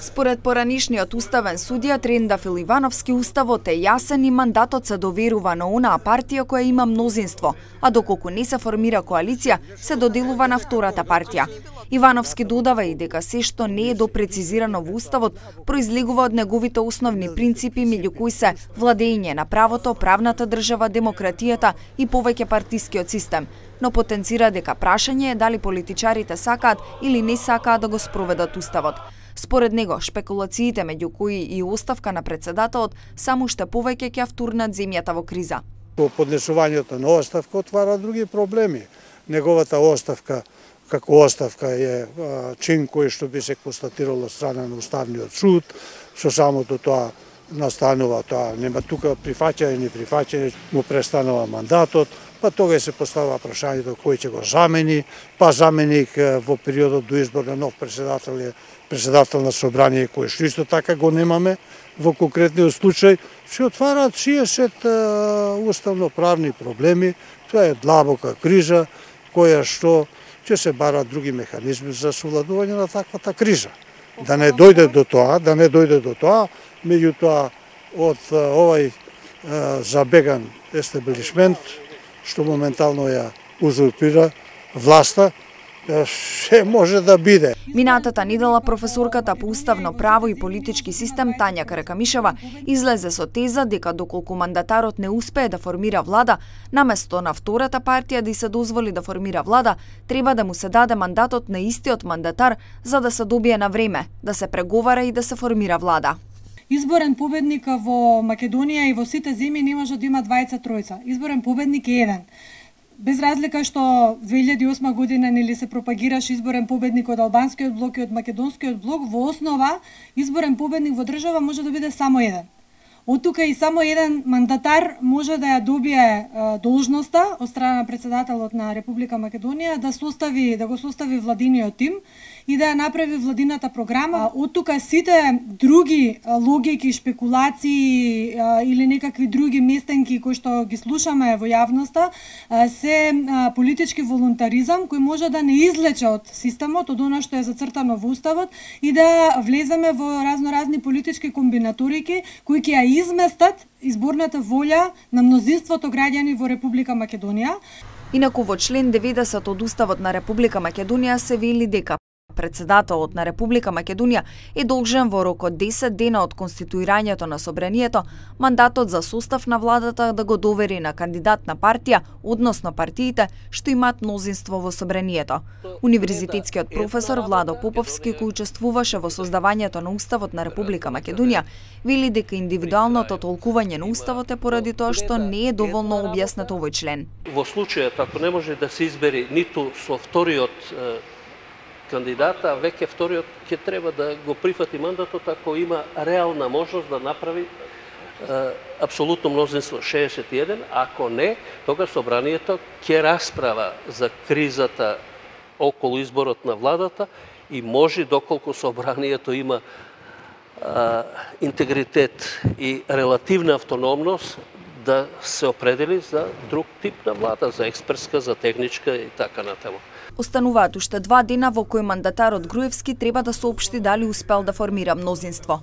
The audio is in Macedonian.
Според поранишниот уставен судија Трендафил Ивановски, уставот е јасен и мандатот се доверува на онаа партија која има мнозинство, а доколку не се формира коалиција, се доделува на втората партија. Ивановски додава и дека се што не е допрецизирано во уставот произлегува од неговите основни принципи, меѓу кои се владење на правото, правната држава, демократијата и повеќе партискиот систем, но потенцира дека прашање е дали политичарите сакаат или не сакаат да го спроведат уставот. Според него, шпекулациите меѓу кои и оставка на председателот само уште повеќе ќе втурнат земјата во криза. Поднесувањето на оставка отвара други проблеми. Неговата оставка како оставка е чин кој што би се констатирало страна на Уставниот суд, со самото тоа настанува тоа, нема тука прифаќање, не прифаќање, му престанува мандатот, па тога се поставува прашањето кој ќе го замени, па заменик во периодот до избор на нов председател е председател на собрание кој што исто така го немаме во конкретниот случај, се отвараат 60 уставно-правни проблеми, тоа е длабока криза која што ќе се барат други механизми за совладување на таквата криза. Да не дојде до тоа, меѓутоа од овај забеган естаблишмент што моментално ја узурпира власта, се може да биде. Минатата недела професорката по уставно право и политички систем Тања Каракамишева излезе со теза дека доколку мандатарот не успее да формира влада, наместо на втората партија да се дозволи да формира влада, треба да му се даде мандатот на истиот мандатар за да се добие на време, да се преговара и да се формира влада. Изборен победник во Македонија и во сите земји не може да има двајца тројца. Изборен победник е еден. Без разлика што 2008 година нели се пропагираше изборен победник од албанскиот блок и од македонскиот блок, во основа изборен победник во држава може да биде само еден. Од тука и само еден мандатар може да ја добие должноста од страна на председателот на Република Македонија да го состави владиниот тим и да ја направи владината програма. Од тука сите други логики, шпекулации или некакви други местенки кои што ги слушаме во јавноста се политички волунтаризам кој може да не излече од системот, од она што е зацртано во уставот и да влеземе во разноразни политички комбинаторики кои ќе ја изместат изборната волја на мнозинството граѓани во Република Македонија. Инаку во член 90 од Уставот на Република Македонија се вели дека председателот на Република Македонија е должен во рок од 10 дена од конституирањето на собранието мандатот за состав на владата да го довери на кандидат на партија, односно партиите што имаат мнозинство во собранието. Универзитетскиот професор Владо Поповски, кој учествуваше во создавањето на Уставот на Република Македонија, вели дека индивидуалното толкување на Уставот е поради тоа што не е доволно објаснет овој член. Во случајот ако не може да се избери ниту со вториот кандидата, веќе вториот ќе треба да го прифати мандатот ако има реална можност да направи апсолутно мнозинство 61, ако не, тога собранието ќе расправа за кризата околу изборот на владата и може, доколку собранието има интегритет и релативна автономност, да се определи за друг тип на влада, за експертска, за техничка и така натаму. Остануваат уште 2 дена во кои мандатарот Груевски треба да соопшти дали успел да формира мнозинство.